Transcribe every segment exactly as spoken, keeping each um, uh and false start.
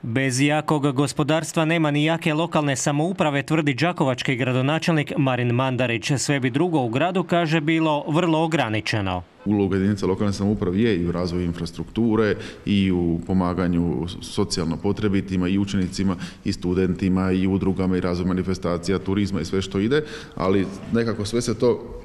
Bez jakog gospodarstva nema ni jake lokalne samouprave, tvrdi đakovački gradonačelnik Marin Mandarić. Sve bi drugo u gradu, kaže, bilo vrlo ograničeno. Uloga jedinica lokalne samouprave je i u razvoju infrastrukture i u pomaganju socijalno potrebitima i učenicima i studentima i udrugama i razvoj manifestacija, turizma i sve što ide, ali nekako sve se to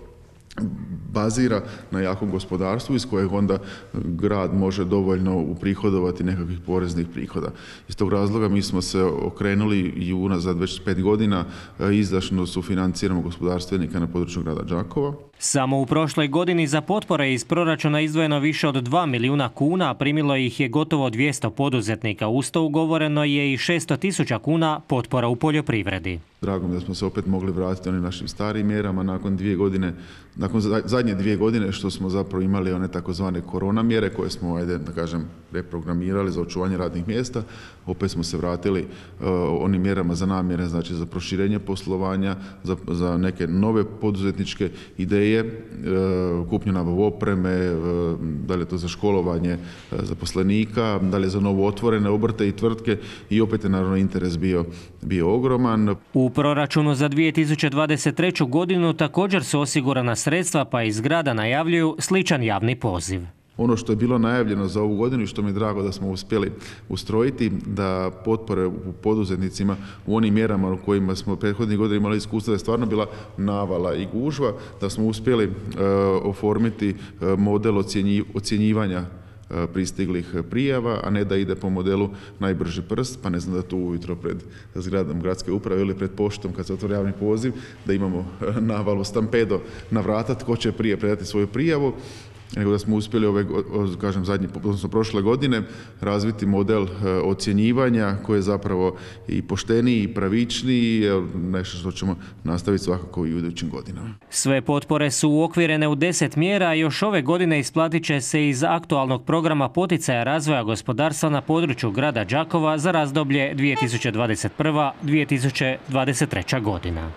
bazira na jakom gospodarstvu iz kojeg onda grad može dovoljno uprihodovati nekakvih poreznih prihoda. Iz tog razloga mi smo se okrenuli i unazad već pet godina izdašno sufinanciramo gospodarstvenika na području grada Đakova. Samo u prošloj godini za potpore iz proračuna izdvojeno više od dva milijuna kuna, a primilo ih je gotovo dvjesto poduzetnika. Uz to ugovoreno je i šesto tisuća kuna potpora u poljoprivredi. Drago mi da smo se opet mogli vratiti onim našim starim mjerama nakon dvije godine, nakon zadnje dvije godine što smo zapravo imali one takozvane korona mjere koje smo, ajde da kažem, reprogramirali za očuvanje radnih mjesta. Opet smo se vratili uh, onim mjerama za namjere, znači za proširenje poslovanja, za, za neke nove poduzetničke ideje, uh, kupnju nabavu opreme, uh, da li je to za školovanje uh, zaposlenika, da li je za novo otvorene obrte i tvrtke i opet je naravno interes bio, bio ogroman. U proračunu za dvije tisuće dvadeset treću godinu također su osigurana sredstva, pa iz grada najavljuju sličan javni poziv. Ono što je bilo najavljeno za ovu godinu i što mi je drago da smo uspjeli ustrojiti, da potpore u poduzetnicima u onim mjerama u kojima smo prethodnih godina imali iskustva da je stvarno bila navala i gužva, da smo uspjeli uh, oformiti uh, model ocjenji, ocjenjivanja pristiglih prijava, a ne da ide po modelu najbrži prst, pa ne znam da tu ujutro pred zgradom gradske uprave ili pred poštom kad se otvori javni poziv, da imamo navalu stampedo na vrata tko će prije predati svoju prijavu, nego da smo uspjeli ove, kažem, zadnje, odnosno prošle godine razviti model ocjenjivanja koji je zapravo i pošteniji i pravičniji, nešto što ćemo nastaviti svakako i u idućim godinama. Sve potpore su uokvirene u deset mjera, a još ove godine isplatit će se iz aktualnog programa poticaja razvoja gospodarstva na području grada Đakova za razdoblje dvije tisuće dvadeset prva do dvije tisuće dvadeset treća godina.